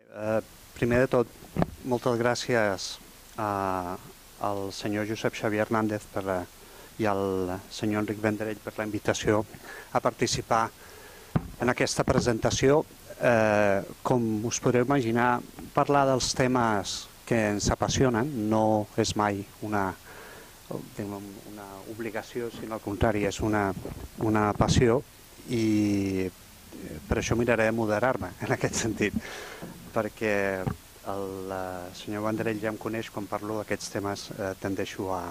Primer de tot, moltes gràcies al senyor Josep Xavier Hernández i al senyor Enric Vendrell per la invitació a participar en aquesta presentació. Com us podreu imaginar, parlar dels temes que ens apassionen no és mai una obligació, sinó al contrari, és una passió, i per això miraré de moderar-me en aquest sentit, perquè el senyor Vendrell ja em coneix. Quan parlo d'aquests temes tendeixo a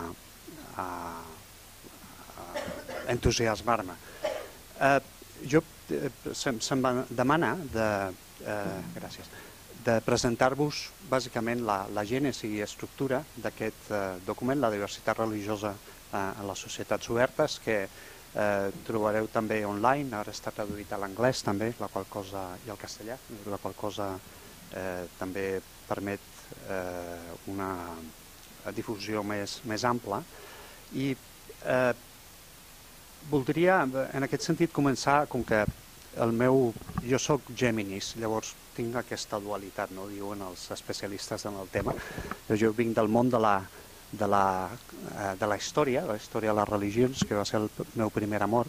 entusiasmar-me. Se'm demana de presentar-vos bàsicament la gènesi i estructura d'aquest document, la diversitat religiosa a les societats obertes, que trobareu també online. Ara està traduït a l'anglès també, la qual cosa, i al castellà, la qual cosa també permet una difusió més ampla. I voldria, en aquest sentit, començar, com que jo soc Géminis, llavors tinc aquesta dualitat, no diuen els especialistes en el tema. Jo vinc del món de la història, de les religions, que va ser el meu primer amor,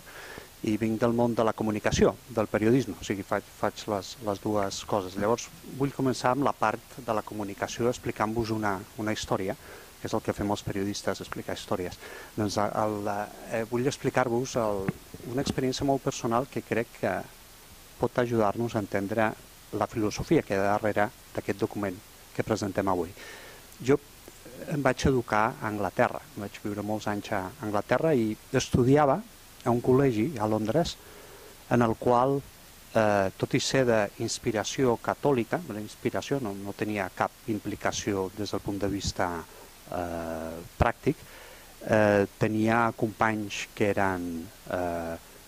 i vinc del món de la comunicació, del periodisme, o sigui, faig les dues coses. Llavors vull començar amb la part de la comunicació, explicant-vos una història, que és el que fem els periodistes, explicar històries. Doncs vull explicar-vos una experiència molt personal que crec que pot ajudar-nos a entendre la filosofia que hi ha darrere d'aquest document que presentem avui. Jo em vaig educar a Anglaterra, vaig viure molts anys a Anglaterra i estudiava a un col·legi a Londres en el qual, tot i ser d'inspiració catòlica, la inspiració no tenia cap implicació des del punt de vista pràctic, tenia companys que eren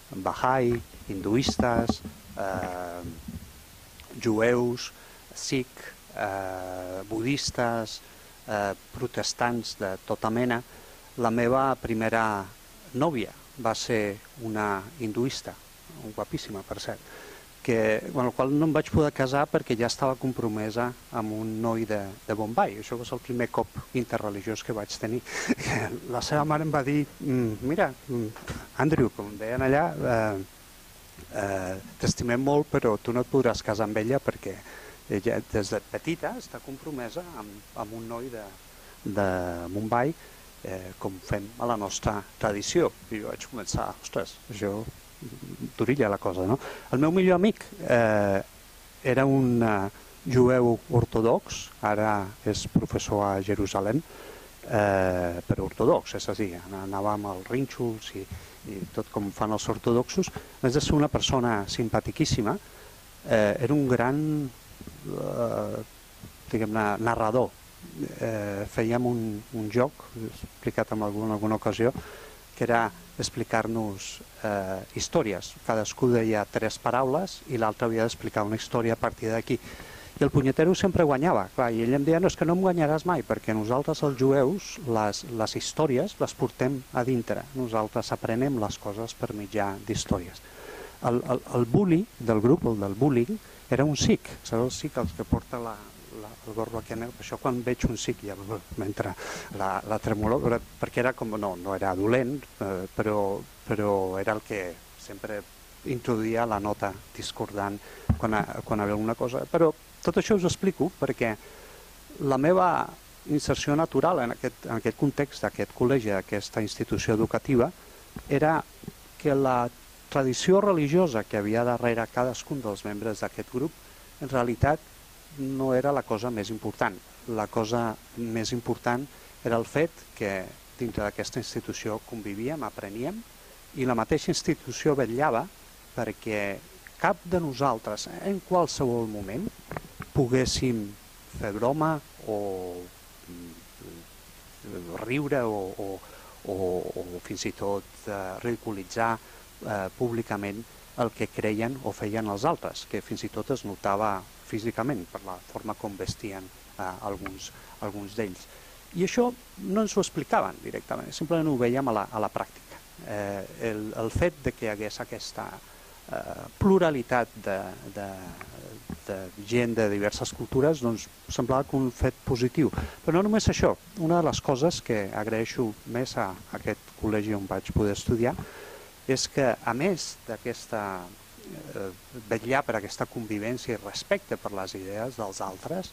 Bahá'í, hinduistes, jueus, sikh, budistes, protestants de tota mena. La meva primera nòvia va ser una hinduista, guapíssima per cert, amb la qual no em vaig poder casar perquè ja estava compromesa amb un noi de Bombay. Això va ser el primer cop interreligiós que vaig tenir. La seva mare em va dir: mira, Andrew, com deien allà, t'estimem molt, però tu no et podràs casar amb ella perquè ella des de petita està compromesa amb un noi de Mumbai, com fem a la nostra tradició. I jo vaig començar, ostres, això durilla la cosa, no? El meu millor amic era un jueu ortodox, ara és professor a Jerusalem, però ortodox, és a dir, anava amb els rínxols i tot com fan els ortodoxos. A més de ser una persona simpatiquíssima, era un gran narrador. Fèiem un joc, explicat en alguna ocasió, que era explicar-nos històries. Cadascú deia 3 paraules i l'altre havia d'explicar una història a partir d'aquí. I el punyetero sempre guanyava. I ell em deia: no, és que no em guanyaràs mai, perquè nosaltres, els jueus, les històries les portem a dintre. Nosaltres aprenem les coses per mitjà d'històries. El bully del grup, el del bullying, era un sikh. Sabeu el sikh, el que porta el gorro aquí negre? Per això quan veig un sikh ja m'entra la tremolor, perquè era com, no era dolent, però era el que sempre introduïa la nota discordant quan hi havia alguna cosa. Però tot això us explico perquè la meva inserció natural en aquest context d'aquest col·legi, d'aquesta institució educativa, era que la tradició religiosa que havia darrere cadascun dels membres d'aquest grup en realitat no era la cosa més important. La cosa més important era el fet que dintre d'aquesta institució convivíem, apreníem, i la mateixa institució vetllava perquè cap de nosaltres en qualsevol moment poguéssim fer broma o riure o fins i tot ridiculitzar públicament el que creien o feien els altres, que fins i tot es notava físicament per la forma com vestien alguns d'ells. I això no ens ho explicaven directament, simplement ho veiem a la pràctica. El fet que hi hagués aquesta pluralitat de gent de diverses cultures, doncs semblava que un fet positiu. Però no només això, una de les coses que agraeixo més a aquest col·legi on vaig poder estudiar és que, a més d'aquesta vetllar per aquesta convivència i respecte per les idees dels altres,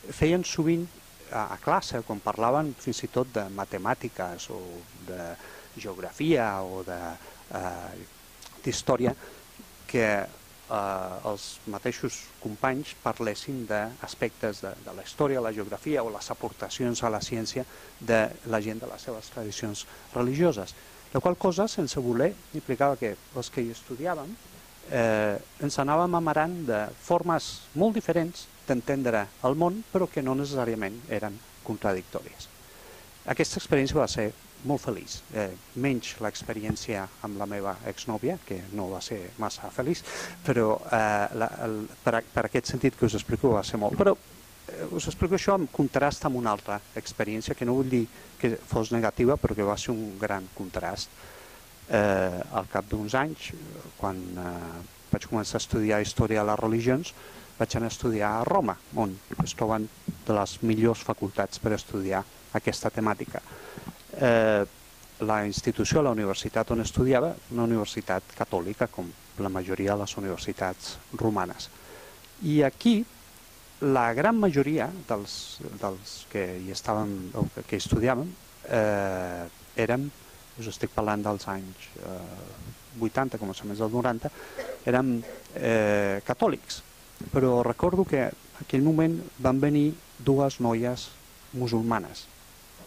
feien sovint a classe, quan parlaven fins i tot de matemàtiques o de geografia o d'història, que els mateixos companys parlessin d'aspectes de la història, la geografia o les aportacions a la ciència de la gent de les seves tradicions religioses. La qual cosa, sense voler, implicava que els que hi estudiàvem ens anàvem amarant de formes molt diferents d'entendre el món, però que no necessàriament eren contradictòries. Aquesta experiència va ser molt feliç, menys l'experiència amb la meva exnòvia, que no va ser massa feliç, però per aquest sentit que us explico va ser molt. Però us explico això en contrast amb una altra experiència, que no vull dir que fos negativa, però que va ser un gran contrast. Al cap d'uns anys, quan vaig començar a estudiar història de les religions, vaig anar a estudiar a Roma, on es troben de les millors facultats per estudiar aquesta temàtica. La institució, la universitat on estudiava, una universitat catòlica, com la majoria de les universitats romanes. I aquí, la gran majoria dels que hi estàvem, o que estudiàvem, érem, us estic parlant dels anys 80, començaments dels 90, érem catòlics. Però recordo que en aquell moment van venir dues noies musulmanes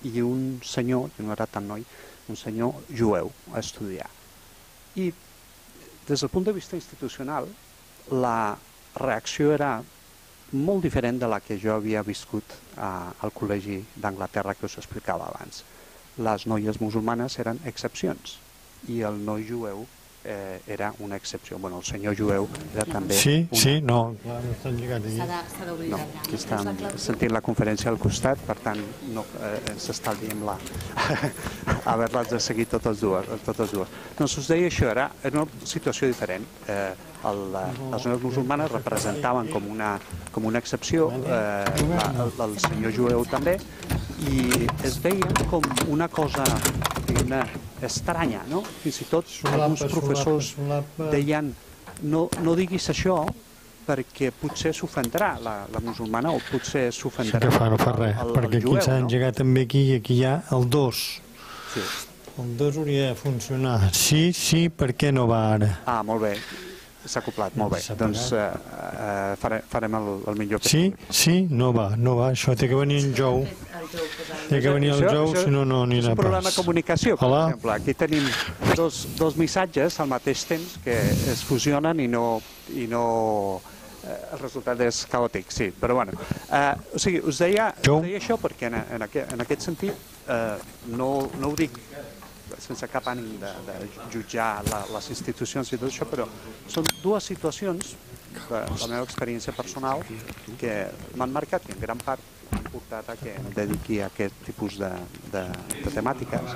i un senyor, que no era tan noi, un senyor jueu a estudiar. I des del punt de vista institucional, la reacció era molt diferent de la que jo havia viscut al col·legi d'Anglaterra que us explicava abans. Les noies musulmanes eren excepcions i el noi jueu era una excepció. Bueno, el senyor jueu era també... Sí, no. No estan lligats aquí. S'ha d'obrir no, aquí estan sentint la conferència al costat, per tant, ens estalviem haver-les de seguir totes dues. Doncs us deia això, era una situació diferent. Les noies musulmanes representaven com una excepció, el senyor jueu també, i es veien com una cosa, diguem-ne, estranya, no? Fins i tot alguns professors deien no diguis això perquè potser s'ofendrà la musulmana o potser s'ofendrà el jueu. No fa res, perquè aquí s'ha engegat també aquí i aquí hi ha el 2. El 2 hauria de funcionar. Sí, per què no va ara? Ah, molt bé. S'ha acoplat, molt bé. Doncs farem el millor que Sí, no va. Això té que venir en jou. Té que venir el jou, si no, no anirà pas. És un problema de comunicació, per exemple. Aquí tenim dos missatges al mateix temps que es fusionen i no el resultat és caòtic, sí. Però bueno, o sigui, us deia això perquè en aquest sentit no ho dic sense cap ànim de jutjar les institucions i tot això, però són dues situacions de la meva experiència personal que m'han marcat i en gran part m'han portat a que em dediqui a aquest tipus de temàtiques,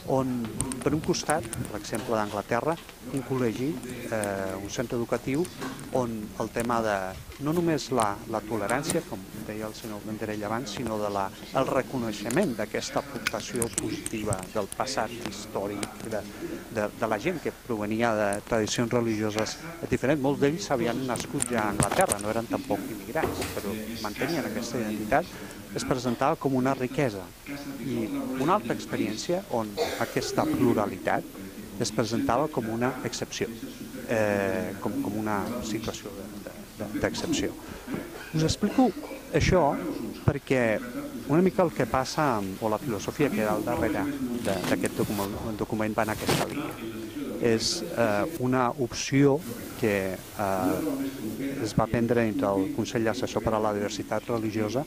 on per un costat, per exemple d'Anglaterra, un col·legi, un centre educatiu, on el tema de no només la tolerància, com deia el senyor Vendrell abans, sinó el reconeixement d'aquesta aportació positiva del passat històric de la gent que provenia de tradicions religioses diferents. Molts d'ells havien nascut ja a Anglaterra, no eren tampoc immigrants, però mantenien aquesta identitat, es presentava com una riquesa. I una altra experiència on aquesta pluralitat es presentava com una excepció, com una situació d'excepció. Us explico això perquè una mica el que passa, o la filosofia que hi ha al darrere d'aquest document va en aquesta línia. És una opció que es va prendre entre el Consell Assessor per a la Diversitat Religiosa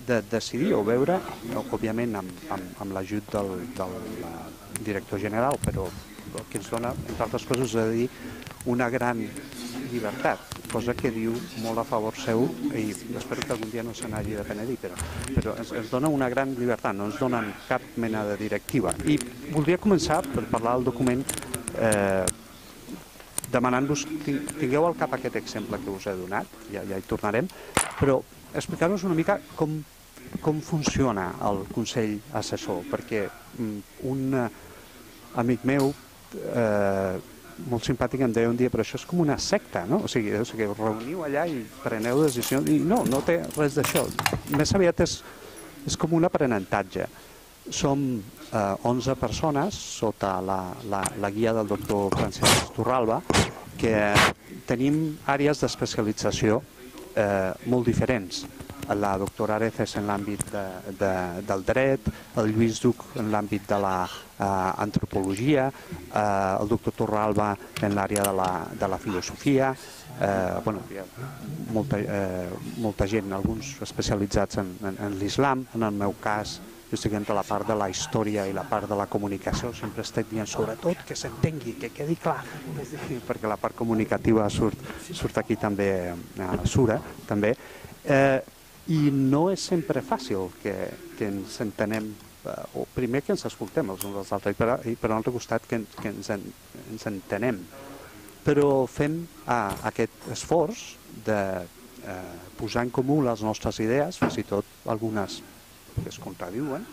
de decidir o veure, òbviament amb l'ajut del director general, però que ens dona, entre altres coses, a dir, una gran llibertat, cosa que diu molt a favor seu, i espero que algun dia no se n'hagi de penedir, però ens dona una gran llibertat, no ens donen cap mena de directiva. I voldria començar per parlar del document demanant-vos, tingueu al cap aquest exemple que us he donat, ja hi tornarem, però explicar-vos una mica com funciona el Consell Assessor, perquè un amic meu molt simpàtic em deia un dia, però això és com una secta, no? O sigui, us reuniu allà i preneu decisions, i no té res d'això. Més aviat és com un aprenentatge. Som 11 persones sota la guia del doctor Francesc Torralba, que tenim àrees d'especialització molt diferents. La doctora Areces en l'àmbit del dret, el Lluís Duc en l'àmbit de l'antropologia, el doctor Torralba en l'àrea de la filosofia, hi ha molta gent, alguns especialitzats en l'islam, en el meu cas jo estic entre la part de la història i la part de la comunicació, sempre estic dient sobretot que s'entengui, que quedi clar, perquè la part comunicativa surt aquí també, sura també, i no és sempre fàcil que ens entenem, o primer que ens escoltem els uns als altres, i per un altre costat que ens entenem, però fem aquest esforç de posar en comú les nostres idees, fins i tot algunes que es contradiuen,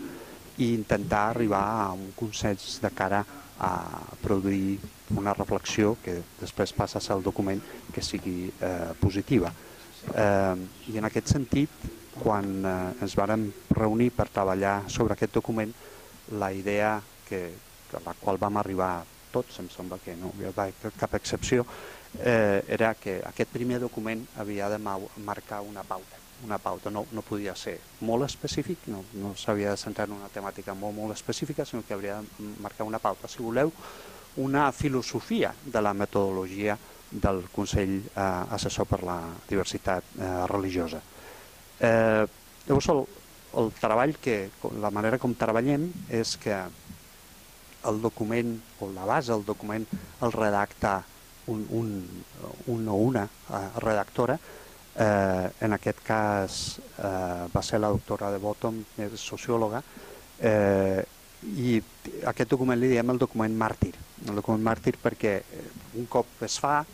i intentar arribar a un consens de cara a produir una reflexió que després passa a ser el document que sigui positiva. I en aquest sentit, quan ens vàrem reunir per treballar sobre aquest document, la idea a la qual vam arribar tots, em sembla que no hi ha cap excepció, era que aquest primer document havia de marcar una pauta. No podia ser molt específic, no s'havia de centrar en una temàtica molt específica, sinó que hauria de marcar una pauta. Si voleu, una filosofia de la metodologia del Consell Assessor per la Diversitat Religiosa. Llavors, el treball, la manera com treballem és que el document, o la base del document, el redacta un o una redactora. En aquest cas va ser la doctora de Bottom, és sociòloga, i aquest document li diem el document màrtir. El document màrtir perquè un cop es fa,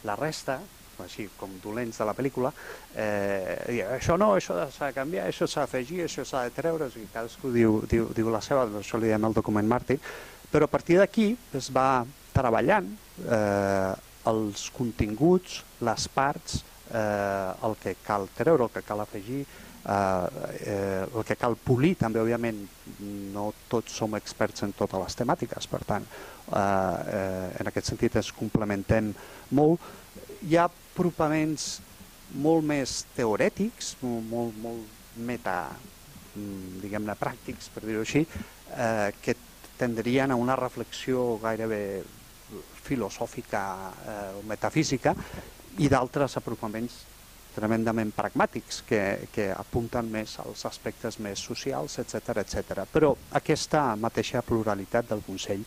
la resta, així com dolents de la pel·lícula, això no, això s'ha de canviar, això s'ha d'afegir, això s'ha de treure, i cadascú diu la seva, això li diem el document màrtir, però a partir d'aquí es va treballant els continguts, les parts, el que cal treure, el que cal afegir, el que cal polir. També, òbviament, no tots som experts en totes les temàtiques, per tant, en aquest sentit ens complementem molt. Hi ha apropaments molt més teorètics, molt meta, diguem-ne, pràctics, per dir-ho així, que tendrien a una reflexió gairebé filosòfica o metafísica, i d'altres apropaments tremendament pragmàtics que apunten més als aspectes més socials, etc. Però aquesta mateixa pluralitat del Consell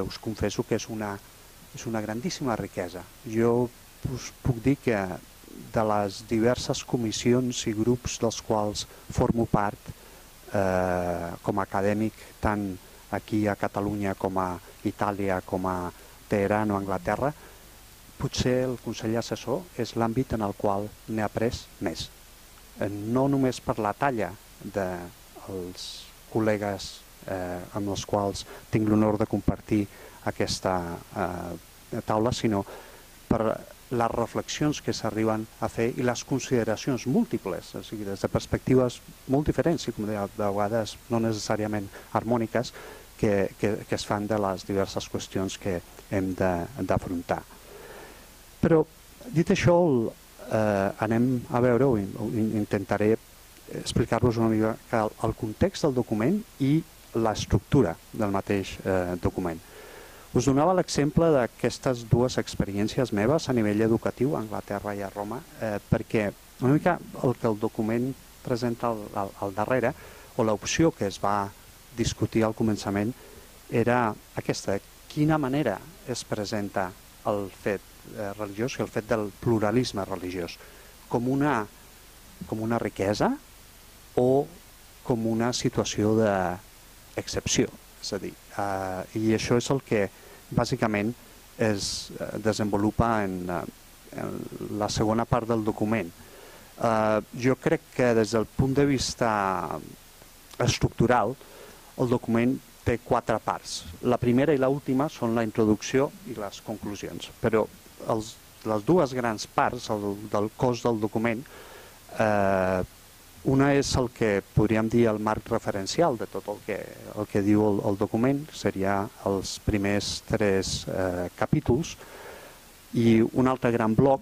us confesso que és una grandíssima riquesa. Jo us puc dir que de les diverses comissions i grups dels quals formo part com a acadèmic, tant aquí a Catalunya com a Itàlia, com a Teheran o Anglaterra, potser el Consell Assessor és l'àmbit en el qual n'he après més. No només per la talla dels col·legues amb els quals tinc l'honor de compartir aquesta taula, sinó per les reflexions que s'arriben a fer i les consideracions múltiples, o sigui, des de perspectives molt diferents i, com deia, de vegades no necessàriament harmòniques, que es fan de les diverses qüestions que hem d'afrontar. Però, dit això, anem a veure, o intentaré explicar-vos una mica el context del document i l'estructura del mateix document. Us donava l'exemple d'aquestes dues experiències meves a nivell educatiu a Anglaterra i a Roma, perquè una mica el que el document presenta al darrere, o l'opció que es va discutir al començament, era aquesta: quina manera es presenta el fet religiós i el fet del pluralisme religiós, com una riquesa o com una situació d'excepció. És a dir, i això és el que bàsicament es desenvolupa en la segona part del document. Jo crec que des del punt de vista estructural el document té 4 parts. La primera i l'última són la introducció i les conclusions, però les dues grans parts del cos del document, una és el que podríem dir el marc referencial de tot el que diu el document, seria els primers 3 capítols, i un altre gran bloc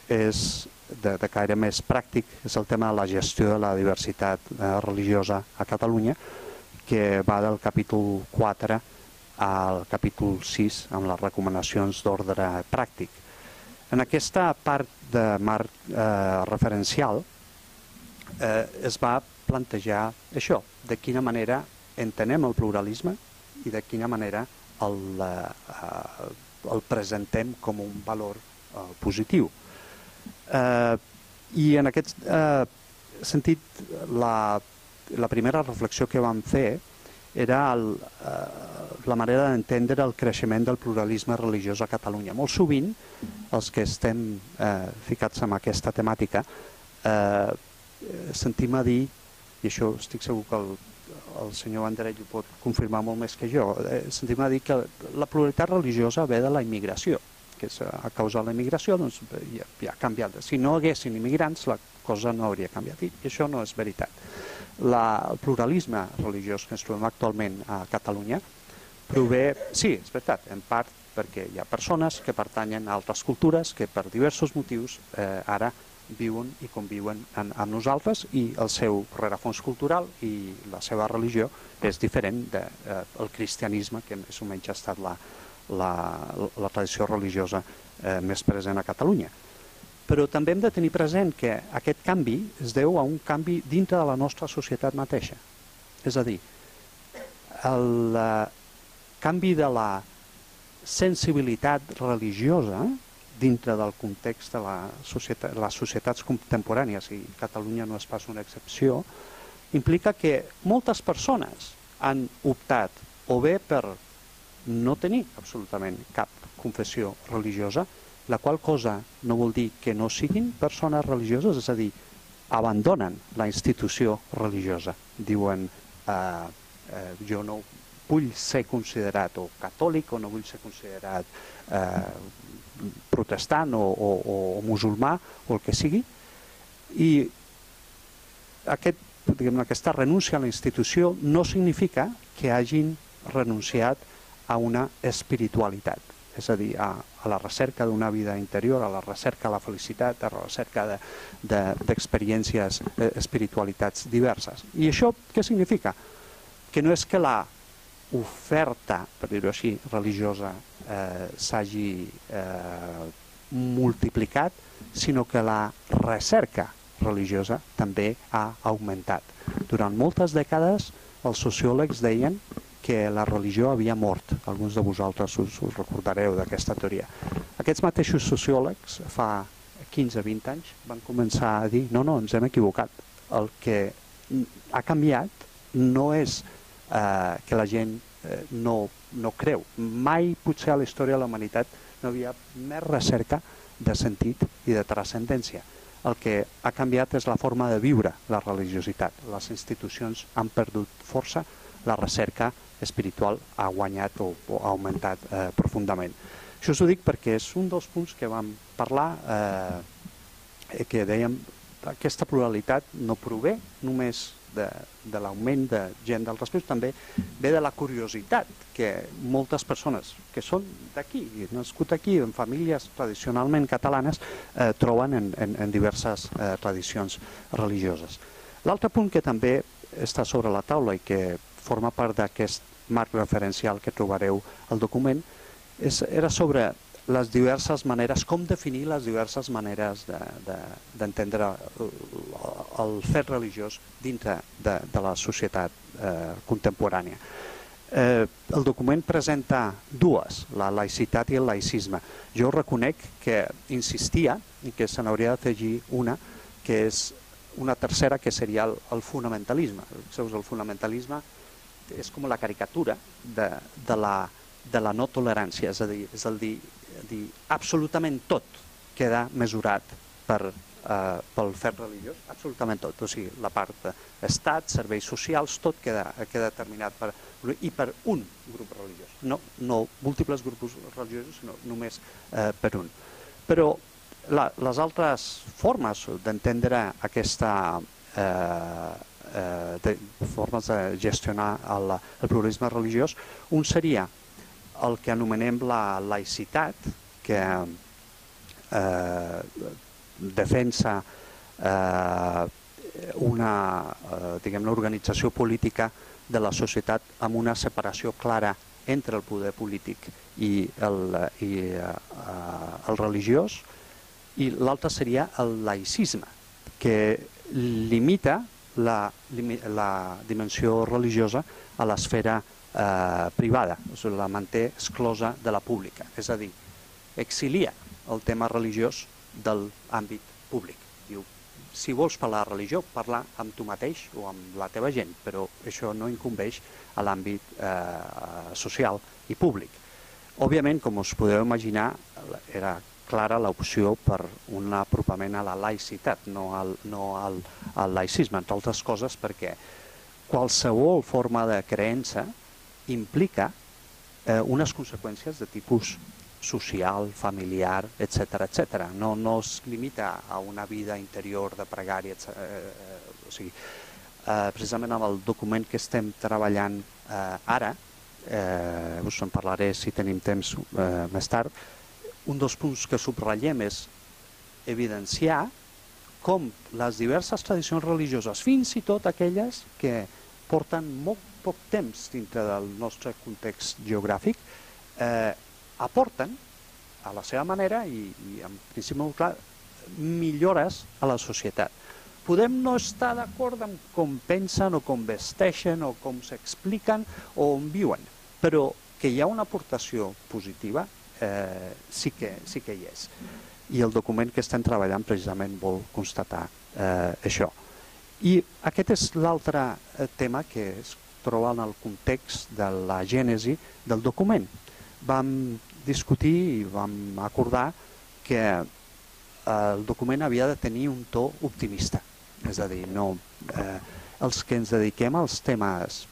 és de caire més pràctic, és el tema de la gestió de la diversitat religiosa a Catalunya, que va del capítol 4 al capítol 6 amb les recomanacions d'ordre pràctic. En aquesta part de marc referencial es va plantejar això, de quina manera entenem el pluralisme i de quina manera el presentem com un valor positiu. I en aquest sentit, la primera reflexió que vam fer era la manera d'entendre el creixement del pluralisme religiós a Catalunya. Molt sovint, els que estem ficats en aquesta temàtica, sentim a dir, i això estic segur que el senyor Vendrell ho pot confirmar molt més que jo, sentim a dir que la pluralitat religiosa ve de la immigració, que és a causa de la immigració doncs, ja ha canviat. Si no haguessin immigrants, la cosa no hauria canviat, i això no és veritat. El pluralisme religiós que ens trobem actualment a Catalunya prové, sí, és veritat, en part perquè hi ha persones que pertanyen a altres cultures que per diversos motius ara viuen i conviuen amb nosaltres, i el seu rerefons cultural i la seva religió és diferent del cristianisme, que més o menys ha estat la tradició religiosa més present a Catalunya. Però també hem de tenir present que aquest canvi es deu a un canvi dintre de la nostra societat mateixa. És a dir, el canvi de la sensibilitat religiosa dintre del context de les societats contemporànies, i Catalunya no és pas una excepció, implica que moltes persones han optat o bé per no tenir absolutament cap confessió religiosa, la qual cosa no vol dir que no siguin persones religioses, és a dir, abandonen la institució religiosa. Diuen, jo no vull ser considerat o catòlic, o no vull ser considerat protestant o musulmà, o el que sigui, i aquesta renúncia a la institució no significa que hagin renunciat a una espiritualitat, és a dir, a la recerca d'una vida interior, a la recerca de la felicitat, a la recerca d'experiències, espiritualitats diverses. I això què significa? Que no és que l'oferta, per dir-ho així, religiosa s'hagi multiplicat, sinó que la recerca religiosa també ha augmentat. Durant moltes dècades els sociòlegs deien que la religió havia mort. Alguns de vosaltres us recordareu d'aquesta teoria. Aquests mateixos sociòlegs fa 15-20 anys van començar a dir no, ens hem equivocat. El que ha canviat no és que la gent no creu. Mai potser a la història de la humanitat no havia més recerca de sentit i de transcendència. El que ha canviat és la forma de viure la religiositat. Les institucions han perdut força, la recerca espiritual ha guanyat o ha augmentat profundament. Això us ho dic perquè és un dels punts que vam parlar, que dèiem que aquesta pluralitat no prové només de l'augment de gent d'altres països, també ve de la curiositat que moltes persones que són d'aquí, nascut aquí, en famílies tradicionalment catalanes, troben en diverses tradicions religioses. L'altre punt que també està sobre la taula i que forma part d'aquest marc referencial que trobareu al document, era sobre les diverses maneres, com definir les diverses maneres d'entendre el fet religiós dintre de la societat contemporània. El document presenta dues, la laïcitat i el laïcisme. Jo reconec que insistia i que se n'hauria d'afegir una, que és una tercera, que seria el fonamentalisme. El fonamentalisme és com la caricatura de de la no tolerància, és a dir, absolutament tot queda mesurat pel fet religiós, absolutament tot, o sigui, la part d'estat, serveis socials, tot queda determinat per un grup religiós, no múltiples grups religiosos, sinó només per un. Però les altres formes d'entendre aquesta formes de gestionar el pluralisme religiós, un seria el que anomenem la laïcitat, que defensa una organització política de la societat amb una separació clara entre el poder polític i el religiós, i l'altre seria el laïcisme, que limita la dimensió religiosa a l'esfera privada, la manté exclosa de la pública, és a dir, exilia el tema religiós de l'àmbit públic. Diu, si vols parlar de religió, parla amb tu mateix o amb la teva gent, però això no incumbeix a l'àmbit social i públic. Òbviament, com us podeu imaginar, era clara l'opció per un apropament a la laïcitat, no al laïcisme, entre altres coses perquè qualsevol forma de creença implica unes conseqüències de tipus social, familiar, etc. No es limita a una vida interior de pregària, o sigui, precisament amb el document que estem treballant ara, us en parlaré si tenim temps més tard, un dels punts que subratllem és evidenciar com les diverses tradicions religioses, fins i tot aquelles que porten molt poc temps dintre del nostre context geogràfic, aporten a la seva manera i en principi molt clar millores a la societat. Podem no estar d'acord amb com pensen o com vesteixen o com s'expliquen o on viuen, però que hi ha una aportació positiva sí que hi és. I el document que estem treballant precisament vol constatar això. I aquest és l'altre tema que es troba en el context de la gènesi del document. Vam discutir i vam acordar que el document havia de tenir un to optimista, és a dir, els que ens dediquem als temes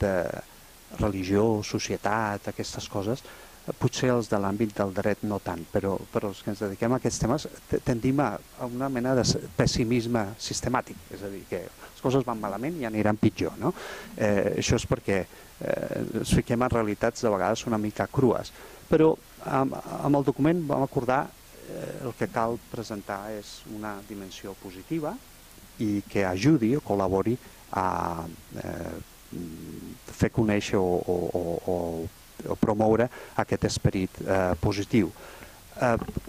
de religió, societat, aquestes coses, potser els de l'àmbit del dret no tant, però els que ens dediquem a aquests temes tendim a una mena de pessimisme sistemàtic, és a dir, que les coses van malament i aniran pitjor. Això és perquè ens fiquem en realitats de vegades una mica crues, però amb el document vam acordar el que cal presentar és una dimensió positiva i que ajudi o col·labori a fer conèixer o promoure aquest esperit positiu.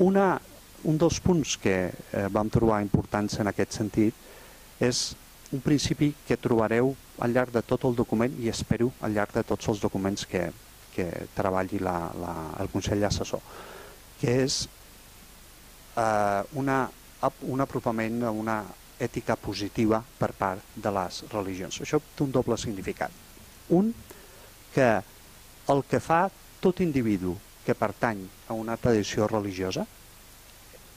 Un dels punts que vam trobar importants en aquest sentit és un principi que trobareu al llarg de tot el document i espero al llarg de tots els documents que treballi el Consell Assessor, que és un apropament a una ètica positiva per part de les religions. Això té un doble significat. Un, que el que fa tot individu que pertany a una tradició religiosa,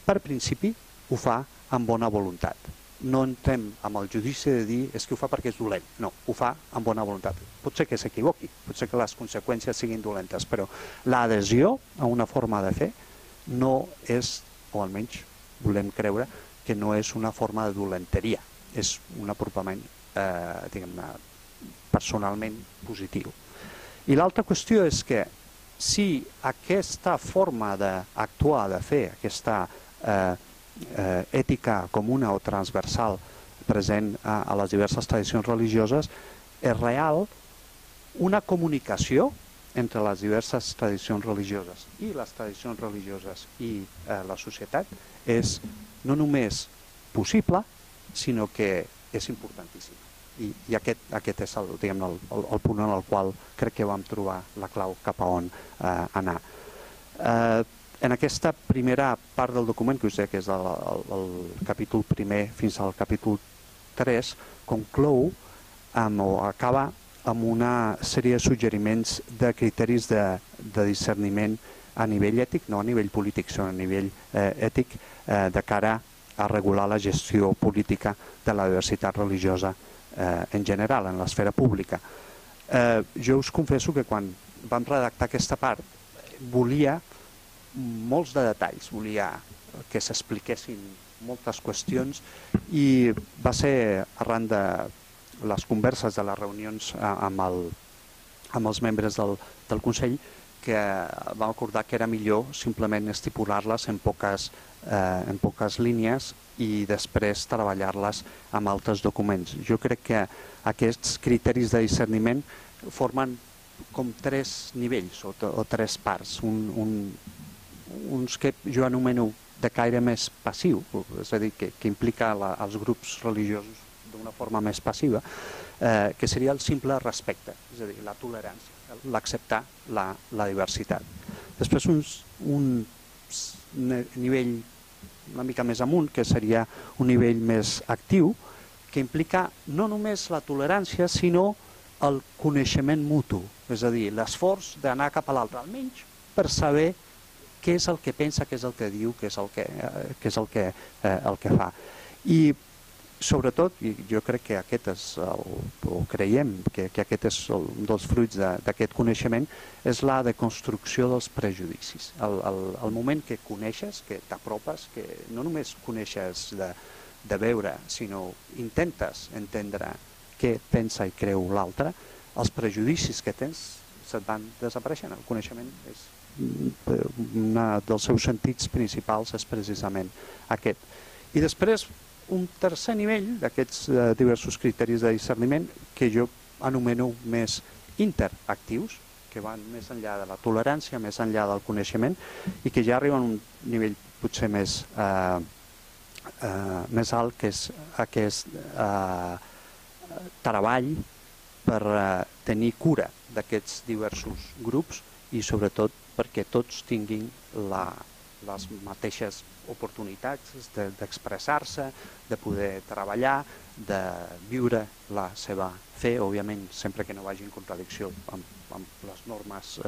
per principi ho fa amb bona voluntat. No entrem amb el judici de dir és que ho fa perquè és dolent. No, ho fa amb bona voluntat. Pot ser que s'equivoqui, pot ser que les conseqüències siguin dolentes, però l'adhesió a una forma de fer no és, o almenys volem creure, que no és una forma de dolenteria, és un apropament, diguem-ne, personalment positiu. I l'altra qüestió és que si aquesta forma d'actuar, de fer, aquesta ètica comuna o transversal present a les diverses tradicions religioses és real, una comunicació entre les diverses tradicions religioses i les tradicions religioses i la societat és no només possible, sinó que és importantíssima. I aquest és el punt en el qual crec que vam trobar la clau cap a on anar. En aquesta primera part del document, que us deia que és el capítol primer fins al capítol 3, conclou o acaba amb una sèrie de suggeriments de criteris de discerniment a nivell ètic, no a nivell polític, sinó a nivell ètic, de cara a regular la gestió política de la diversitat religiosa en general, en l'esfera pública. Jo us confesso que quan vam redactar aquesta part volia molts de detalls, volia que s'expliquessin moltes qüestions i va ser arran de les converses de les reunions amb els membres del Consell que vam acordar que era millor simplement estipular-les en poques línies i després treballar-les amb altres documents. Jo crec que aquests criteris de discerniment formen com tres nivells o tres parts. Uns que jo anomeno de caire més passiu, és a dir, que implica els grups religiosos d'una forma més passiva, que seria el simple respecte, és a dir, la tolerància, l'acceptar la diversitat. Després un nivell una mica més amunt, que seria un nivell més actiu, que implica no només la tolerància, sinó el coneixement mutu, és a dir, l'esforç d'anar cap a l'altre, almenys per saber què és el que pensa, què és el que diu, què és el que fa. I sobretot, i jo crec que aquest és, o creiem que aquest és un dels fruits d'aquest coneixement, és la deconstrucció dels prejudicis. El moment que coneixes, que t'apropes, que no només coneixes de veure, sinó intentes entendre què pensa i creu l'altre, els prejudicis que tens se't van desapareixent. El coneixement és un dels seus sentits principals és precisament aquest. I després, un tercer nivell d'aquests diversos criteris de discerniment que jo anomeno més interactius, que van més enllà de la tolerància, més enllà del coneixement i que ja arriben a un nivell potser més alt, que és aquest treball per tenir cura d'aquests diversos grups i sobretot perquè tots tinguin les mateixes oportunitats d'expressar-se, de poder treballar, de viure la seva fe, òbviament sempre que no vagi en contradicció amb les normes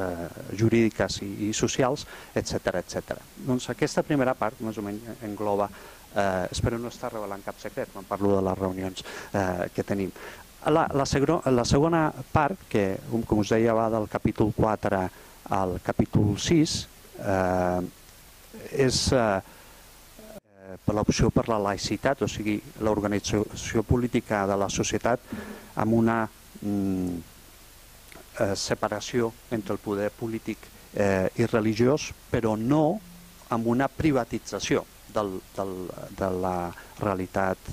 jurídiques i socials, etc. Doncs aquesta primera part més o menys engloba, espero no estar revelant cap secret quan parlo de les reunions que tenim. La segona part, que com us deia va del capítol 4 al capítol 6, és per l'opció per la laïcitat, o sigui, l'organització política de la societat amb una separació entre el poder polític i religiós, però no amb una privatització de la realitat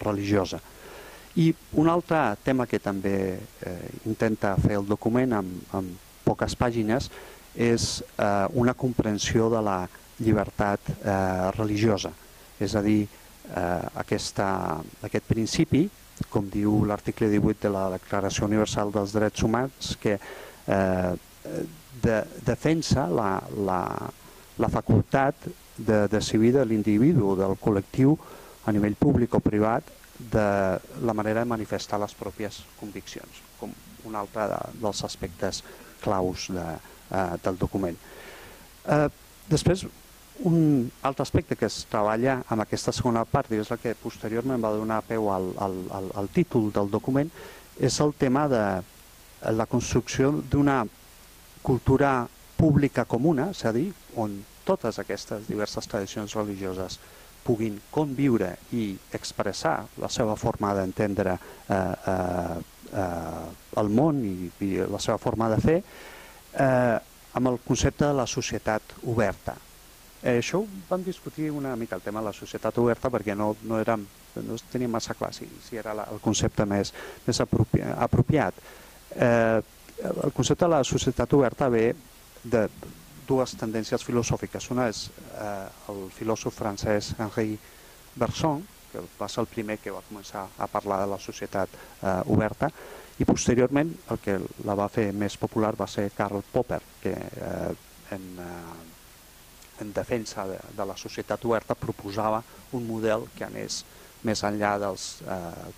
religiosa. I un altre tema que també intenta fer el document amb poques pàgines és una comprensió de la llibertat religiosa. És a dir, aquest principi, com diu l'article 18 de la Declaració Universal dels Drets Humans, que defensa la facultat de decidir de l'individu o del col·lectiu a nivell públic o privat de la manera de manifestar les pròpies conviccions, com un altre dels aspectes claus del document. Després, un altre aspecte que es treballa amb aquesta segona part, i és la que posteriorment va donar peu al títol del document, és el tema de la construcció d'una cultura pública comuna, és a dir, on totes aquestes diverses tradicions religioses puguin conviure i expressar la seva forma d'entendre el món i la seva forma de fer amb el concepte de la societat oberta. Això ho vam discutir una mica, el tema de la societat oberta, perquè no teníem massa clar si era el concepte més apropiat. El concepte de la societat oberta ve de dues tendències filosòfiques. Una és el filòsof francès Henri Bergson, que va ser el primer que va començar a parlar de la societat oberta, i posteriorment el que la va fer més popular va ser Karl Popper, que en defensa de la societat oberta proposava un model que anés més enllà dels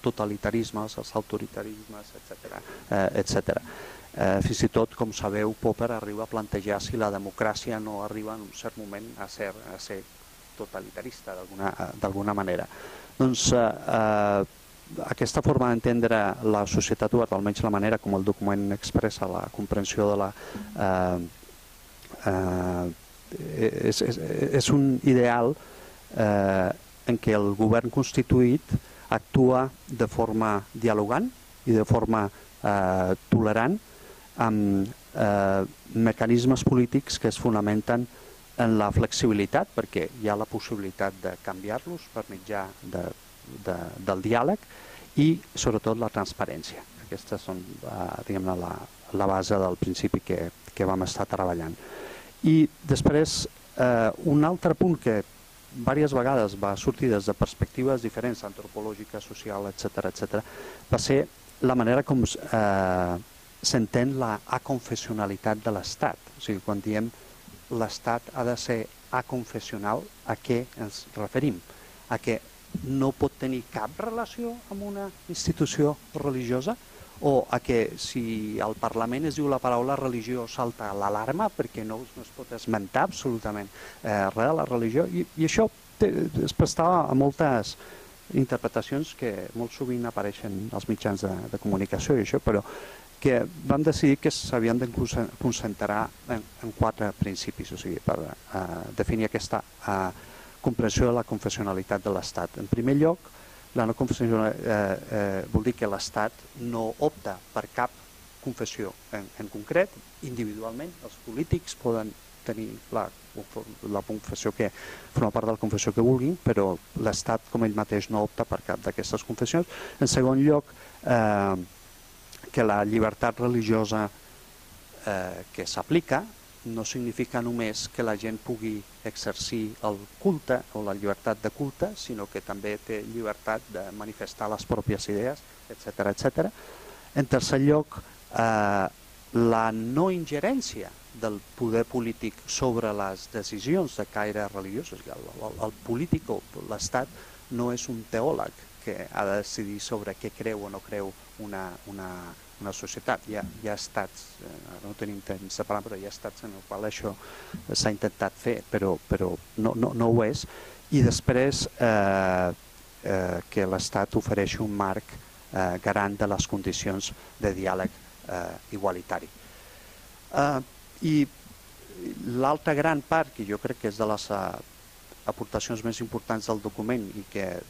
totalitarismes, els autoritarismes, etc. Fins i tot, com sabeu, Popper arriba a plantejar si la democràcia no arriba en un cert moment a ser totalitarista d'alguna manera. Doncs aquesta forma d'entendre la societat oberta, almenys la manera com el document expressa la comprensió de la... és un ideal en què el govern constituït actua de forma dialogant i de forma tolerant amb mecanismes polítics que es fonamenten en la flexibilitat, perquè hi ha la possibilitat de canviar-los per mitjà del diàleg i sobretot la transparència. Aquestes són la base del principi que vam estar treballant. I després un altre punt que diverses vegades va sortir des de perspectives diferents, antropològica, social, etc., va ser la manera com s'entén la aconfessionalitat de l'Estat. O sigui, quan diem l'Estat ha de ser aconfessional, a què ens referim? A què no pot tenir cap relació amb una institució religiosa, o a que si al Parlament es diu la paraula religió salta l'alarma perquè no es pot esmentar absolutament res de la religió, i això es prestava a moltes interpretacions que molt sovint apareixen als mitjans de comunicació i això, però que vam decidir que s'havien de concentrar en 4 principis, o sigui, per definir aquesta comprensió de la confessionalitat de l'Estat. En primer lloc, la no confessionalitat vol dir que l'Estat no opta per cap confessió en concret. Individualment, els polítics poden tenir la confessió que forma part de la confessió que vulguin, però l'Estat com ell mateix no opta per cap d'aquestes confessions. En segon lloc, que la llibertat religiosa que s'aplica no significa només que la gent pugui exercir el culte o la llibertat de culte, sinó que també té llibertat de manifestar les pròpies idees, etc. En tercer lloc, la no ingerència del poder polític sobre les decisions de caire religiós. El polític o l'Estat no és un teòleg que ha de decidir sobre què creu o no creu una societat. Hi ha estats, no tenim temps de parlar, però hi ha estats en els quals això s'ha intentat fer, però no ho és. I després que l'Estat ofereixi un marc garant de les condicions de diàleg igualitari. I l'altra gran part, que jo crec que és de les aportacions més importants del document i que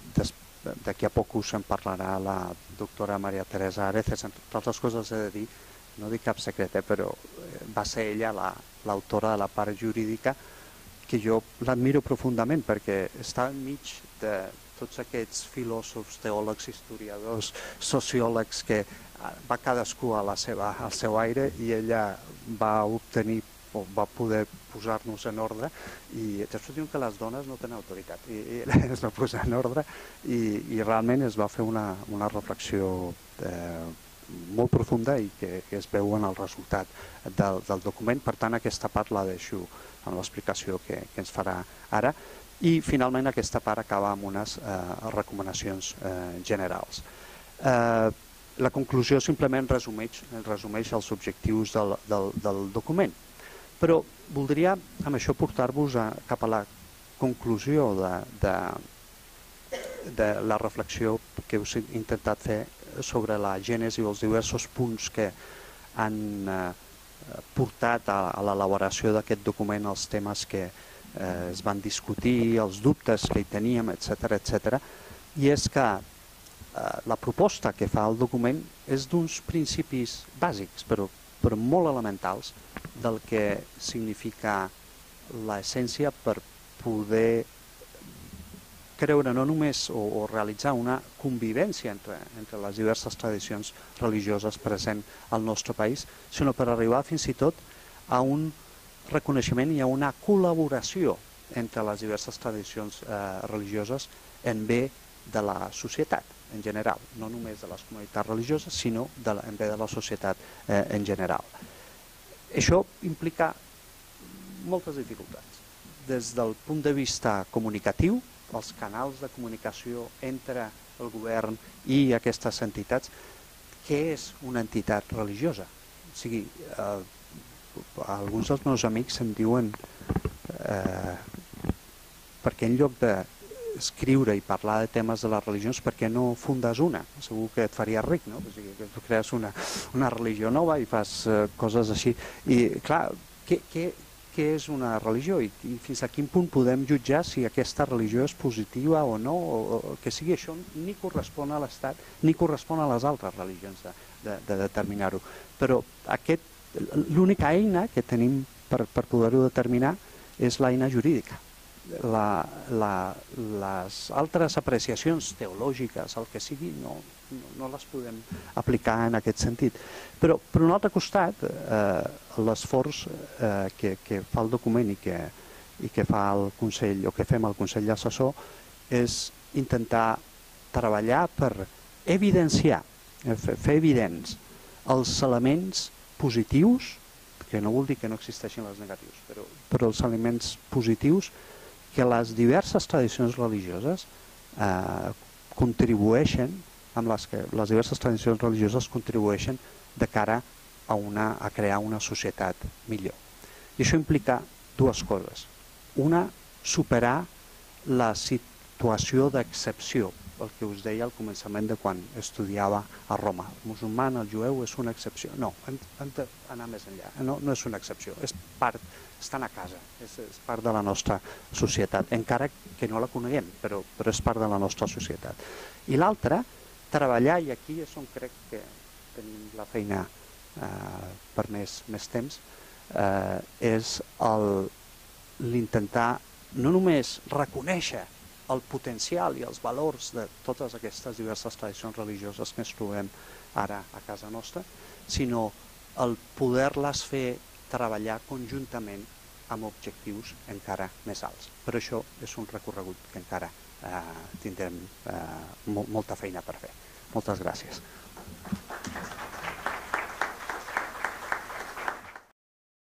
d'aquí a poc us en parlarà la doctora Maria Teresa Areces, entre altres coses he de dir, no dic cap secret, però va ser ella l'autora de la part jurídica, que jo l'admiro profundament perquè està enmig de tots aquests filòsofs, teòlegs, historiadors, sociòlegs que va cadascú al seu aire, i ella va obtenir o va poder posar-nos en ordre, i després diuen que les dones no tenen autoritat, i ella es va posar en ordre i realment es va fer una reflexió molt profunda i que es veu en el resultat del document. Per tant, aquesta part la deixo amb l'explicació que ens farà ara, i finalment aquesta part acaba amb unes recomanacions generals. La conclusió simplement resumeix els objectius del document, però voldria amb això portar-vos cap a la conclusió de la reflexió que us he intentat fer sobre la gènesi o els diversos punts que han portat a l'elaboració d'aquest document, els temes que es van discutir, els dubtes que hi teníem, etc. I és que la proposta que fa el document és d'uns principis bàsics, però molt elementals, del que significa l'essència per poder creure no només o realitzar una convivència entre les diverses tradicions religioses presents al nostre país, sinó per arribar fins i tot a un reconeixement i a una col·laboració entre les diverses tradicions religioses en bé de la societat en general, no només de les comunitats religioses, sinó en bé de la societat en general. Això implica moltes dificultats. Des del punt de vista comunicatiu, els canals de comunicació entre el govern i aquestes entitats, què és una entitat religiosa? O sigui, alguns dels meus amics em diuen perquè en lloc d'escriure i parlar de temes de les religions, per què no fundes una? Segur que et faria ric, no? O sigui, que tu crees una religió nova i fas coses així. I clar, què és una religió i fins a quin punt podem jutjar si aquesta religió és positiva o no, o que sigui això ni correspon a l'Estat ni correspon a les altres religions de determinar-ho. Però l'única eina que tenim per poder-ho determinar és l'eina jurídica. Les altres apreciacions teològiques, el que sigui, no les podem aplicar en aquest sentit. Però, per un altre costat, l'esforç que fa el document i que fa el Consell, o que fem al Consell Assessor, és intentar treballar per evidenciar, fer evidents els elements positius, que no vol dir que no existeixin els negatius, però els elements positius que les diverses tradicions religioses contribueixen, amb les que les diverses tradicions religioses contribueixen de cara a crear una societat millor. I això implica dues coses. Una, superar la situació d'excepció, el que us deia al començament de quan estudiava a Roma. El musulmà, el jueu, és una excepció. No, hem d'anar més enllà. No és una excepció, és part, estan a casa, és part de la nostra societat, encara que no la coneguem, però és part de la nostra societat. I l'altra, treballar, i aquí és on crec que tenim la feina per més temps, és l'intentar no només reconèixer el potencial i els valors de totes aquestes diverses tradicions religioses que ens trobem ara a casa nostra, sinó el poder-les fer treballar conjuntament amb objectius encara més alts. Per això és un recorregut que encara tindrem molta feina per fer. Moltes gràcies.